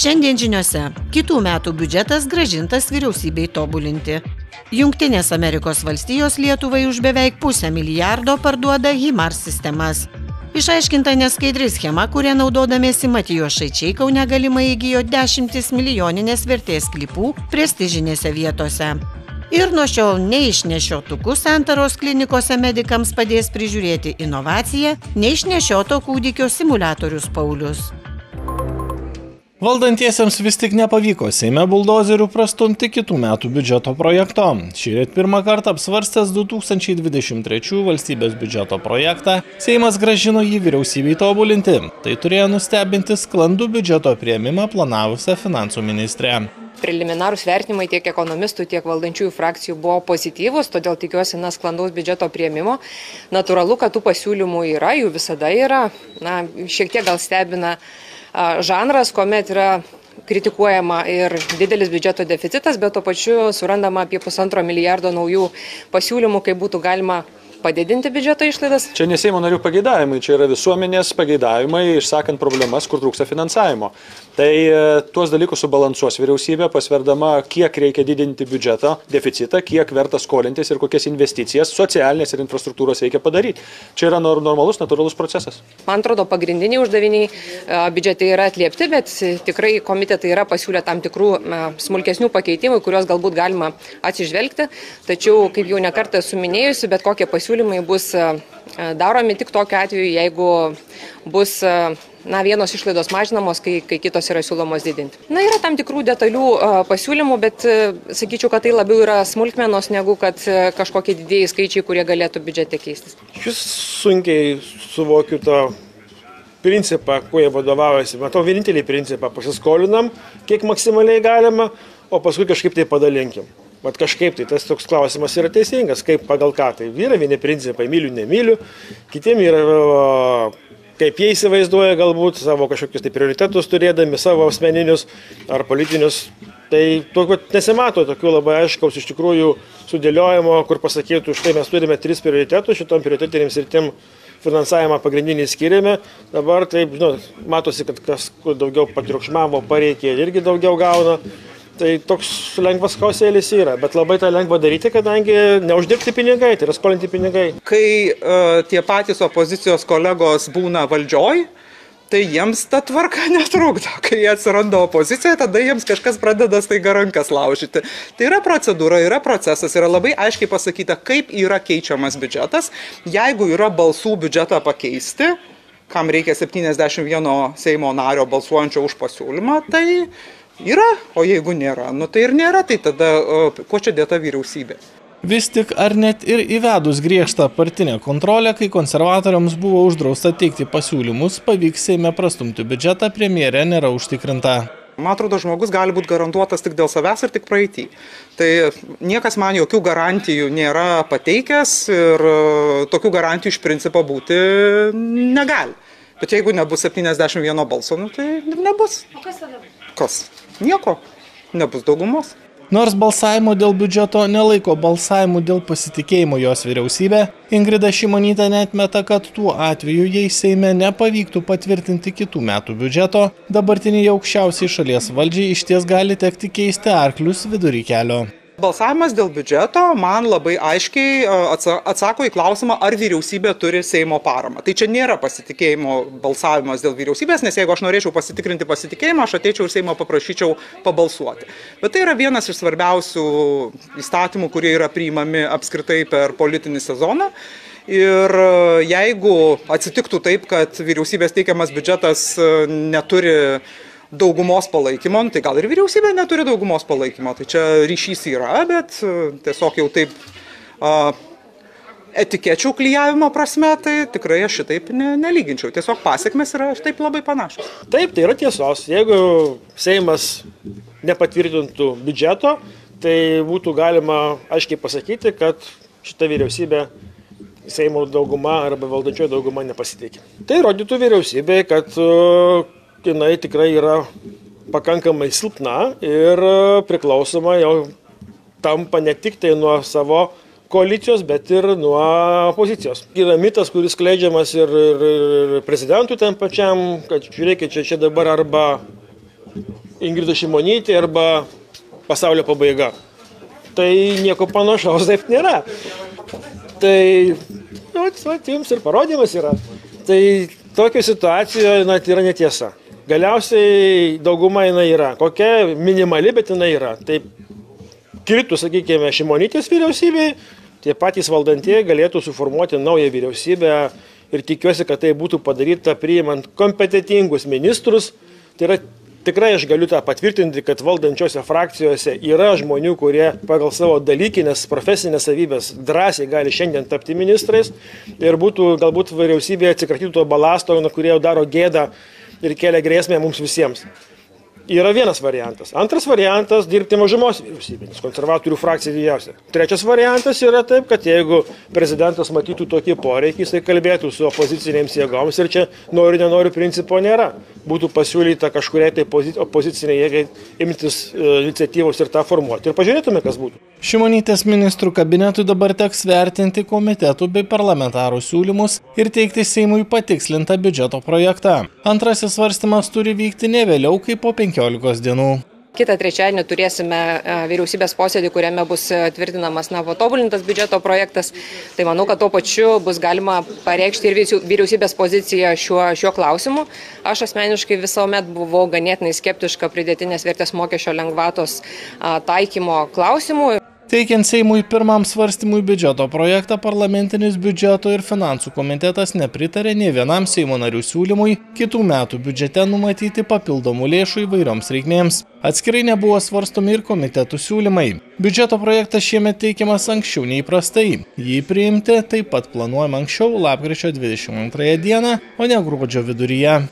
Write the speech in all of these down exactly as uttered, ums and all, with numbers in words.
Šiandien žiniose kitų metų biudžetas grąžintas vyriausybei tobulinti. Jungtinės Amerikos valstijos Lietuvai už beveik pusę milijardo parduoda HIMARS sistemas. Išaiškinta neskaidri schema, kuria naudodamiesi Matijošaičiai Kaune galimai įgijo dešimtis milijoninės vertės sklypų prestižinėse vietose. Ir nuo šiol neišnešiotukų santaros klinikose medikams padės prižiūrėti inovaciją neišnešioto kūdikio simuliatorius Paulius. Valdantiesiems vis tik nepavyko Seime buldozerių prastumti kitų metų biudžeto projekto. Šįryt pirmą kartą apsvarstęs du tūkstančiai dvidešimt trečių valstybės biudžeto projektą, Seimas grąžino jį vyriausybei tobulinti. Tai turėjo nustebinti sklandų biudžeto priėmimą planavusią finansų ministrę. Preliminarūs vertinimai tiek ekonomistų, tiek valdančiųjų frakcijų buvo pozityvus, todėl tikiuosi na, sklandaus biudžeto priėmimo. Natūralu, kad tų pasiūlymų yra, jų visada yra. Na, šiek tiek gal stebina žanras, kuomet yra kritikuojama ir didelis biudžeto deficitas, bet tuo pačiu surandama apie pusantro milijardo naujų pasiūlymų, kaip būtų galima padidinti biudžeto išlaidas. Čia ne Seimo narių pageidavimai, čia yra visuomenės pageidavimai, išsakant problemas, kur trūksta finansavimo. Tai tuos dalykus subalansuos vyriausybė, pasverdama, kiek reikia didinti biudžeto deficitą, kiek verta skolintis ir kokias investicijas socialinės ir infrastruktūros reikia padaryti. Čia yra normalus, natūralus procesas. Man atrodo, pagrindiniai uždaviniai biudžetai yra atliepti, bet tikrai komitetai yra pasiūlę tam tikrų smulkesnių pakeitimų, kuriuos galbūt galima atsižvelgti. Tačiau, kaip jau nekartą esu minėjusi, bet kokie pasiūlymai bus daromi tik tokiu atveju, jeigu bus na, vienos išlaidos mažinamos, kai, kai kitos yra siūlomos didinti. Na, yra tam tikrų detalių uh, pasiūlymų, bet uh, sakyčiau, kad tai labiau yra smulkmenos, negu kad uh, kažkokie didėjai skaičiai, kurie galėtų biudžete keistis. Šis sunkiai suvokiu tą principą, kuo jie vadovaujasi. Matau, vienintelį principą pasiskolinam, kiek maksimaliai galima, o paskui kažkaip tai padalinkim. Vat kažkaip tai tas toks klausimas yra teisingas, kaip pagal ką. Tai yra vieni principai, myliu, nemyliu, kitiem yra kaip jie įsivaizduoja galbūt savo kažkokius tai prioritetus turėdami, savo asmeninius ar politinius. Tai tokio nesimato tokių labai aiškaus iš tikrųjų sudėliojimo, kur pasakytų, štai mes turime tris prioritetus, šitom prioritetinėms ir tim finansavimą pagrindinį skiriame. Dabar taip, žinot, matosi, kad kas daugiau patriukšmavo, pareikė irgi daugiau gauna. Tai toks lengvas chaosėlis yra, bet labai tą lengva daryti, kadangi neuždirbti pinigai, tai yra skolinti pinigai. Kai uh, tie patys opozicijos kolegos būna valdžioj, tai jiems ta tvarka netrukdo. Kai jie atsiranda opozicijoje, tada jiems kažkas pradeda staiga rankas laužyti. Tai yra procedūra, yra procesas, yra labai aiškiai pasakyta, kaip yra keičiamas biudžetas. Jeigu yra balsų biudžetą pakeisti, kam reikia septyniasdešimt vieno Seimo nario balsuojančio už pasiūlymą, tai yra, o jeigu nėra, nu tai ir nėra, tai tada o, kuo čia dėta vyriausybė? Vis tik ar net ir įvedus griežtą partinę kontrolę, kai konservatoriams buvo uždrausta teikti pasiūlymus, pavyks Seime prastumti biudžetą, premjerė nėra užtikrinta. Man atrodo, žmogus gali būti garantuotas tik dėl savęs ir tik praeitį. Tai niekas man jokių garantijų nėra pateikęs ir tokių garantijų iš principo būti negali. Bet jeigu nebus septyniasdešimt vieno balso, nu, tai nebus. O kas tada bus? Kas? Nieko. Nebus daugumos. Nors balsavimo dėl biudžeto nelaiko balsavimų dėl pasitikėjimo jos vyriausybė, Ingrida Šimonytė neatmeta, kad tuo atveju, jei Seime nepavyktų patvirtinti kitų metų biudžeto, dabartiniai aukščiausiai šalies valdžiai išties gali tekti keisti arklius vidury kelio. Balsavimas dėl biudžeto man labai aiškiai atsako į klausimą, ar vyriausybė turi Seimo paramą. Tai čia nėra pasitikėjimo balsavimas dėl vyriausybės, nes jeigu aš norėčiau pasitikrinti pasitikėjimą, aš ateičiau ir Seimo paprašyčiau pabalsuoti. Bet tai yra vienas iš svarbiausių įstatymų, kurie yra priimami apskritai per politinį sezoną. Ir jeigu atsitiktų taip, kad vyriausybės teikiamas biudžetas neturi daugumos palaikymo, tai gal ir vyriausybė neturi daugumos palaikymo. Tai čia ryšys yra, bet tiesiog jau taip a, etikečių klijavimo prasme, tai tikrai aš šitaip ne, nelyginčiau. Tiesiog pasiekmes yra taip labai panašios. Taip, tai yra tiesos. Jeigu Seimas nepatvirtintų biudžeto, tai būtų galima aiškiai pasakyti, kad šita vyriausybė Seimo dauguma arba valdančioji dauguma nepasitikė. Tai rodytų vyriausybė, kad jinai tikrai yra pakankamai silpna ir priklausoma jau tampa ne tik tai nuo savo koalicijos, bet ir nuo opozicijos. Yra mitas, kuris skleidžiamas ir, ir, ir prezidentui tam pačiam, kad žiūrėkit, čia, čia dabar arba Ingrida Šimonytė arba pasaulio pabaiga. Tai nieko panašaus taip nėra. Tai, nu, jums ir parodymas yra. Tai tokia situacija, na, tai yra netiesa. Galiausiai dauguma jinai yra. Kokia minimali, bet jinai yra. Tai kritų, sakykime, Šimonytės vyriausybei, tie patys valdantieji galėtų suformuoti naują vyriausybę ir tikiuosi, kad tai būtų padaryta priimant kompetitingus ministrus. Tai yra tikrai aš galiu tą patvirtinti, kad valdančiose frakcijose yra žmonių, kurie pagal savo dalykinės profesinės savybės drąsiai gali šiandien tapti ministrais ir būtų galbūt vyriausybė atsikratytų to balasto, kurie jau daro gėdą ir kelia grėsmę mums visiems. Yra vienas variantas. Antras variantas – dirbti mažumos vyriausybės, konservatorių frakcija didžiausia. Trečias variantas yra taip, kad jeigu prezidentas matytų tokį poreikį, jisai kalbėtų su opozicinėms jėgoms ir čia noriu, nenoriu principo nėra. Būtų pasiūlyta kažkuriai tai opoziciniai jėgai imtis iniciatyvos ir tą formuoti. Ir pažiūrėtume, kas būtų. Šimonytės ministrų kabinetui dabar teks vertinti komitetų bei parlamentarų siūlymus ir teikti Seimui patikslintą biudžeto projektą. Antrasis svarstymas turi vykti ne vėliau kaip po penkiolikos dienų. Kitą trečiadienį turėsime vyriausybės posėdį, kuriame bus tvirtinamas na, patobulintas biudžeto projektas. Tai manau, kad tuo pačiu bus galima pareikšti ir vyriausybės poziciją šiuo, šiuo klausimu. Aš asmeniškai visuomet buvau ganėtinai skeptiška pridėtinės vertės mokesčio lengvatos taikymo klausimu. Teikiant Seimui pirmam svarstymui biudžeto projektą, parlamentinis biudžeto ir finansų komitetas nepritarė nė vienam Seimo narių siūlymui kitų metų biudžete numatyti papildomų lėšų įvairioms reikmėms. Atskirai nebuvo svarstomi ir komitetų siūlymai. Biudžeto projektas šiemet teikiamas anksčiau neįprastai. Jį priimti taip pat planuojama anksčiau lapkričio dvidešimt antrąją dieną, o ne gruodžio viduryje.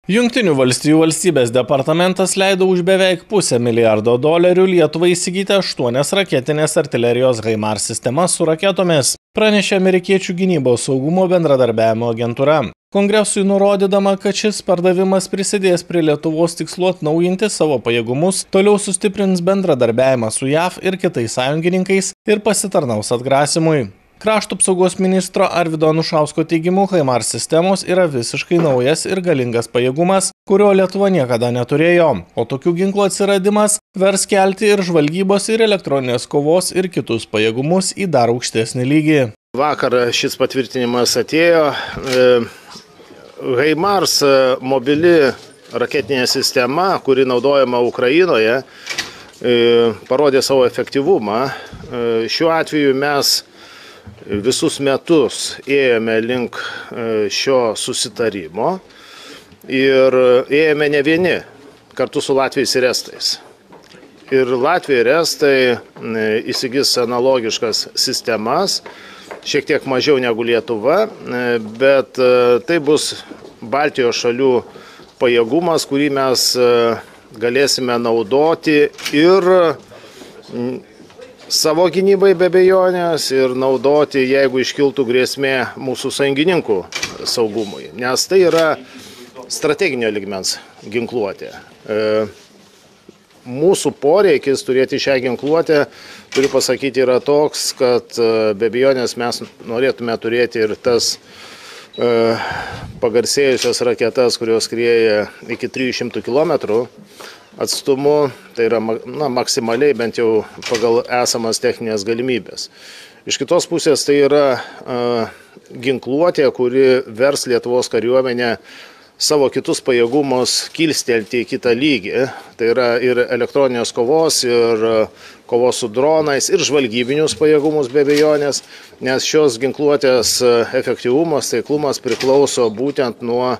Jungtinių valstijų valstybės departamentas leido už beveik pusę milijardo dolerių Lietuvai įsigyti aštuonias raketinės artilerijos HIMARS sistemas su raketomis, pranešė amerikiečių gynybos saugumo bendradarbiavimo agentūra. Kongresui nurodydama, kad šis pardavimas prisidės prie Lietuvos tikslų atnaujinti savo pajėgumus, toliau sustiprins bendradarbiavimą su J A V ir kitais sąjungininkais ir pasitarnaus atgrasimui. Krašto apsaugos ministro Arvydo Anušausko teigimu, HIMARS sistemos yra visiškai naujas ir galingas pajėgumas, kurio Lietuva niekada neturėjo, o tokių ginklų atsiradimas vers kelti ir žvalgybos ir elektroninės kovos ir kitus pajėgumus į dar aukštesnį lygį. Vakar šis patvirtinimas atėjo. HIMARS mobili raketinė sistema, kuri naudojama Ukrainoje, parodė savo efektyvumą. Šiuo atveju mes visus metus ėjome link šio susitarimo ir ėjome ne vieni, kartu su Latvijais ir Estais. Ir Latvija ir Estai įsigis analogiškas sistemas, šiek tiek mažiau negu Lietuva, bet tai bus Baltijos šalių pajėgumas, kurį mes galėsime naudoti ir savo gynybai be abejonės ir naudoti, jeigu iškiltų grėsmė mūsų sąjungininkų saugumui, nes tai yra strateginio lygmens ginkluotė. Mūsų poreikis turėti šią ginkluotę, turiu pasakyti, yra toks, kad be abejonės mes norėtume turėti ir tas pagarsėjusias raketas, kurios skrieja iki trijų šimtų kilometrų atstumu, tai yra na, maksimaliai bent jau pagal esamas techninės galimybės. Iš kitos pusės tai yra uh, ginkluotė, kuri vers Lietuvos kariuomenę savo kitus pajėgumus kilstelti į kitą lygį. Tai yra ir elektroninės kovos, ir kovos su dronais, ir žvalgybinius pajėgumus be abejonės, nes šios ginkluotės efektyvumas, taiklumas priklauso būtent nuo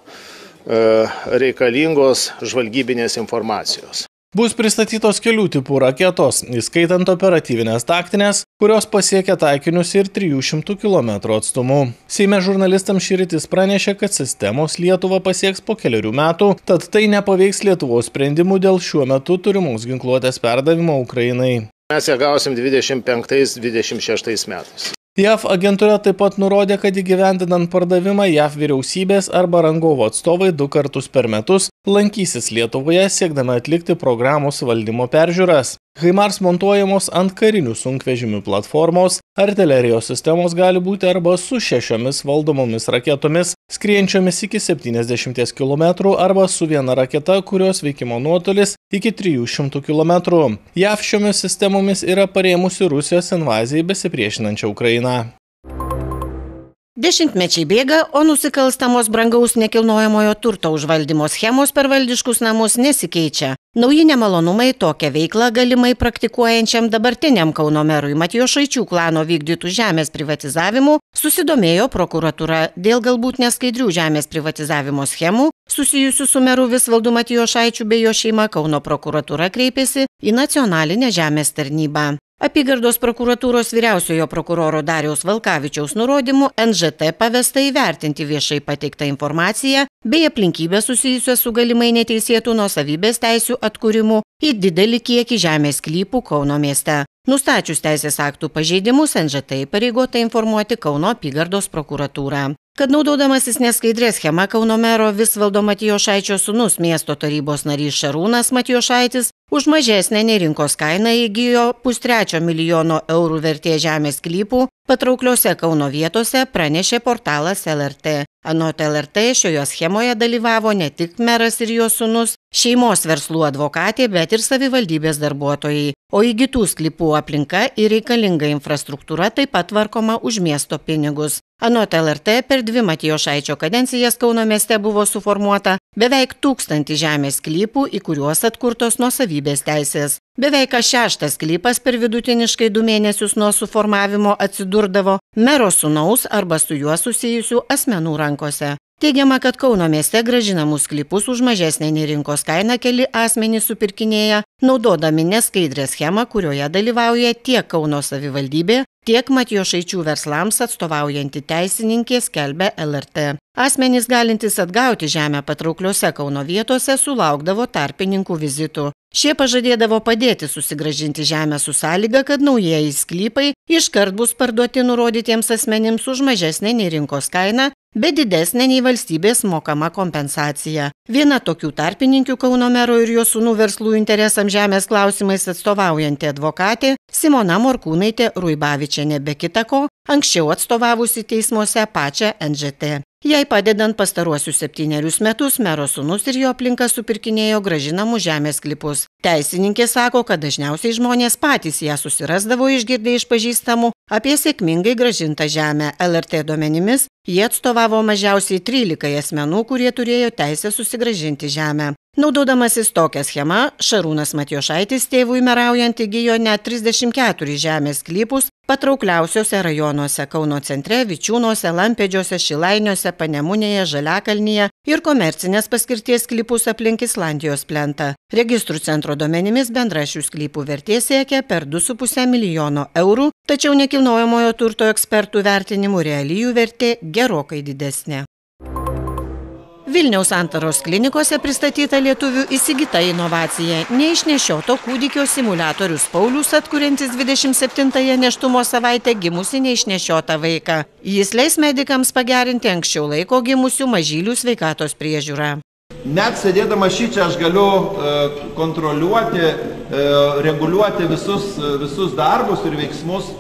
reikalingos žvalgybinės informacijos. Bus pristatytos kelių tipų raketos, įskaitant operatyvinės taktinės, kurios pasiekia taikinius ir trijų šimtų kilometrų atstumu. Seime žurnalistams šįrytis pranešė, kad sistemos Lietuvą pasieks po keliarių metų, tad tai nepaveiks Lietuvos sprendimų dėl šiuo metu turimos ginkluotės perdavimo Ukrainai. Mes ją gausim dvidešimt penktais dvidešimt šeštais metais. J A V agentūra taip pat nurodė, kad įgyvendinant pardavimą J A V vyriausybės arba rangovo atstovai du kartus per metus lankysis Lietuvoje siekdama atlikti programos valdymo peržiūras. HIMARS montuojamos ant karinių sunkvežimių platformos, artilerijos sistemos gali būti arba su šešiomis valdomomis raketomis, skriejančiomis iki septyniasdešimties kilometrų arba su viena raketa, kurios veikimo nuotolis iki trijų šimtų kilometrų. J A V šiomis sistemomis yra parėmusi Rusijos invazijai besipriešinančią Ukrainą. Dešimtmečiai bėga, o nusikalstamos brangaus nekilnojamojo turto užvaldymo schemos per valdiškus namus nesikeičia. Nauji nemalonumai tokią veiklą galimai praktikuojančiam dabartiniam Kauno merui Matijošaičių klano vykdytų žemės privatizavimu susidomėjo prokuratūra. Dėl galbūt neskaidrių žemės privatizavimo schemų susijusių su meru Visvaldu Matijošaičiu bei jo šeima Kauno prokuratūra kreipėsi į nacionalinę žemės tarnybą. Apygardos prokuratūros vyriausiojo prokuroro Dariaus Valkavičiaus nurodymu N Ž T pavesta įvertinti viešai pateiktą informaciją bei aplinkybę susijusią su galimai neteisėtų nuosavybės teisių atkūrimu į didelį kiekį žemės sklypų Kauno mieste. Nustačius teisės aktų pažeidimus, N Ž T įpareigota informuoti Kauno apygardos prokuratūrą. Kad naudodamasis neskaidrė schema Kauno mero Visvaldo Matijošaičio sūnus miesto tarybos narys Šarūnas Matijošaitis už mažesnę nei rinkos kainą įgijo pustrečio milijono eurų vertės žemės sklypų patraukliose Kauno vietose, pranešė portalas L R T. Anot L R T šioje schemoje dalyvavo ne tik meras ir jo sūnus, šeimos verslų advokatė, bet ir savivaldybės darbuotojai. O įgytų sklypų aplinka ir reikalinga infrastruktūra taip pat tvarkoma už miesto pinigus. Anot L R T per dvi Matijošaičio kadencijas Kauno mieste buvo suformuota beveik tūkstantį žemės sklypų, į kuriuos atkurtos nuosavybės teisės. Beveik kas šeštas sklypas per vidutiniškai du mėnesius nuo suformavimo atsidurdavo mero sūnaus arba su juo susijusių asmenų rankose. Teigiama, kad Kauno mieste grąžinamus sklypus už mažesnę nei rinkos kainą keli asmenys supirkinėja, naudodami neskaidrę schemą, kurioje dalyvauja tiek Kauno savivaldybė, tiek Matijošaičių verslams atstovaujanti teisininkė, skelbia L R T. Asmenys galintys atgauti žemę patraukliose Kauno vietose sulaukdavo tarpininkų vizitų. Šie pažadėdavo padėti susigrąžinti žemę su sąlyga, kad naujieji sklypai iškart bus parduoti nurodytiems asmenims už mažesnę nei rinkos kainą, bet didesnė nei valstybės mokama kompensacija. Viena tokių tarpininkių Kauno mero ir jo sūnų verslų interesams žemės klausimais atstovaujanti advokatė Simona Morkūnaitė Ruibavičienė, be kita ko, anksčiau atstovavusi teismuose pačią N Ž T. Jai padedant pastaruosius septynerius metus mero sūnus ir jo aplinka supirkinėjo grąžinamų žemės sklypus. Teisininkė sako, kad dažniausiai žmonės patys ją susirasdavo išgirdę iš pažįstamų apie sėkmingai grąžintą žemę. L R T duomenimis jie atstovavo mažiausiai trylikai asmenų, kurie turėjo teisę susigrąžinti žemę. Naudodamasis tokią schemą, Šarūnas Matijošaitis tėvui meraujant įgijo net trisdešimt keturis žemės sklypus patraukliausiuose rajonuose Kauno centre, Vičiūnuose, Lampėdžiuose, Šilainiuose, Panemunėje, Žaliakalnyje ir komercinės paskirties sklypus aplink Islandijos plentą. Registrų centro duomenimis bendra šių sklypų vertė siekia per du su puse milijono eurų, tačiau nekilnojamojo turto ekspertų vertinimų reali jų vertė gerokai didesnė. Vilniaus Santaros klinikose pristatyta lietuvių įsigyta inovacija – neišnešioto kūdikio simuliatorius Paulius, atkuriantis dvidešimt septintąją nėštumo savaitę gimusi neišnešiotą vaiką. Jis leis medikams pagerinti anksčiau laiko gimusių mažylių sveikatos priežiūrą. Net sėdėdama šičia aš galiu kontroliuoti, reguliuoti visus, visus darbus ir veiksmus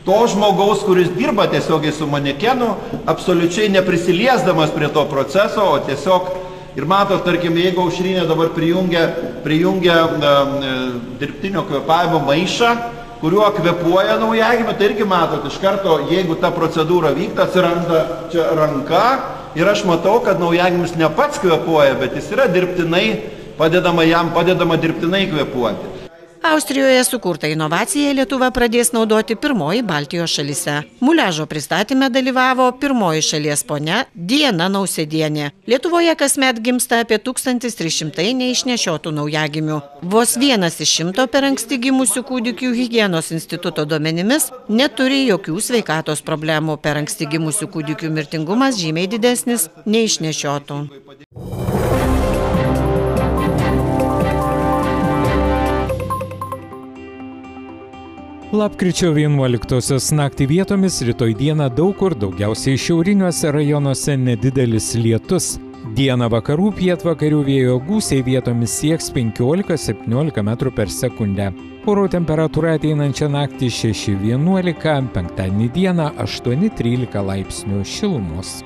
to žmogaus, kuris dirba tiesiogiai su manekenu, absoliučiai neprisiliesdamas prie to proceso, o tiesiog, ir matot, tarkim, jeigu Aušrinė dabar prijungia, prijungia e, dirbtinio kvėpavimo maišą, kuriuo kvėpuoja naujagimį, tai irgi matot, iš karto, jeigu ta procedūra vyksta, atsiranda čia ranka ir aš matau, kad naujagimis ne pats kvėpuoja, bet jis yra dirbtinai, padedama jam, padedama dirbtinai kvėpuoti. Austrijoje sukurta inovacija Lietuva pradės naudoti pirmoji Baltijos šalyse. Muliažo pristatyme dalyvavo pirmoji šalies ponia Diana Nausėdienė. Lietuvoje kasmet gimsta apie tūkstantis trys šimtai neišnešiotų naujagimių. Vos vienas iš šimto per anksti gimusių kūdikių higienos instituto duomenimis neturi jokių sveikatos problemų. Per anksti gimusių kūdikių mirtingumas žymiai didesnis nei išnešiotų. Lapkričio vienuoliktosios naktį vietomis rytoj dieną daug kur, daugiausiai šiauriniuose rajonuose nedidelis lietus. Dieną vakarų pietvakarių vėjo gūsiai vietomis sieks penkiolika septyniolika metrų per sekundę. Oro temperatūra ateinančią naktį šeši vienuolika, penktadienį dieną aštuoni trylika laipsnių šilumos.